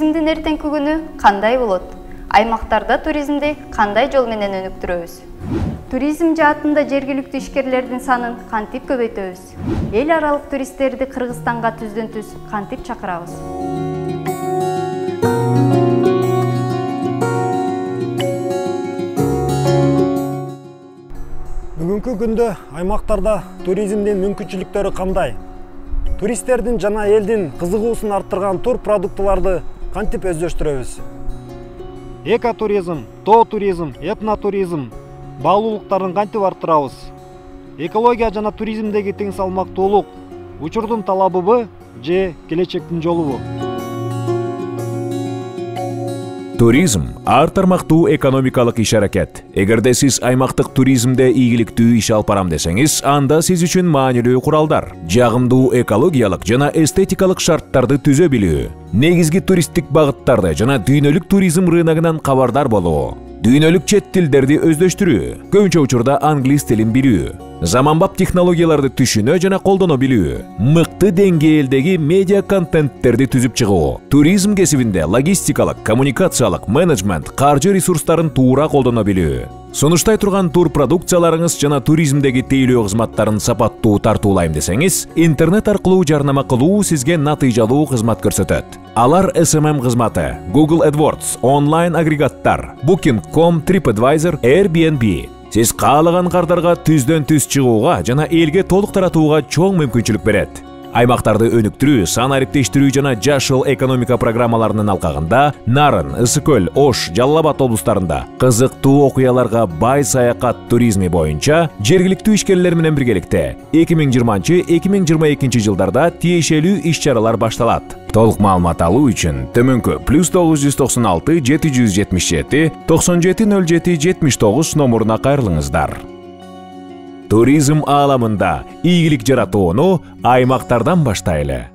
Туризмдин эртеңки күнү кандай болот? Аймактарда туризмди кандай жол менен өнүктүрөбүз? Туризм жаатында жергиликтүү ишкерлердин санын кантип көбөйтөбүз? Эл аралык туристтерди Кыргызстанга түздөн-түз кантип чакырабыз? Бүгүнкү күндө аймактарда туризмдин мүмкүнчүлүктөрү кандай? Туристтердин жана элдин кызыгуусун арттырган тур продуктыларды кантип өздөштүрөбүз? Экотуризм, тоо туризм, этнотуризм баалуулуктарын кантип арттырабыз? Экология жана туризмдеги тең салмактуулук учурдун талабыбы же келечектин жолубу? Туризм ар тармактуу экономикалык иш-аракет. Эгерде сиз аймактык туризмде ийгиликтүү иш алып барам десеңиз, анда сиз үчүн маанилүү куралдар, жагымдуу экологиялык жана эстетикалык шарттарды түзө билүү, негизги туристтик багыттарды жана дүйнөлүк туризм рыногунан кабардар болуу, дүйнөлүк чет тилдерди өздөштүрүү, көбүнчө учурда англис тилин билүү, заманбап технологияларды түшүнө жана колдоно билүү, мыкты деңгээлдеги медиа контенттерди түзүп чыгуу, туризм кесибинде логистикалык, коммуникациялык, менеджмент, каржы ресурстарын туура колдоно билүү. Сунуштай турган тур продукцияларыңыз жана туризмдеги тейлөө кызматтарын сапаттуу тартуулайм десеңиз, интернет аркылуу жарнама кылуу сизге натыйжалуу кызмат көрсөтөт. Алар SMM кызматы, Google AdWords, онлайн агрегаттар, Booking.com, TripAdvisor, Airbnb. Сиз каалаган кардарга түздөн-түз чыгууга жана элге толук таратууга чоң мүмкүнчүлүк берет. Аймактарды өнүктүрүү, сан ариптештирүү жана жашыл экономика программаларынын алкагында Нарын, Ысык-Көл, Ош, Жалал Абад облустарында кызыктуу окуяларга бай саякат туризми боюнча жергиликтүү ишкерлер менен биргеликте 2020-2022 жылдарда тиешелүү иш-чаралар башталат. Толук маалымат алуу үчүн төмөнкү +996 777 9707 79 номуруна кайрылыңыздар. Туризм ааламында ийгилик жаратууну аймактардан баштайлы.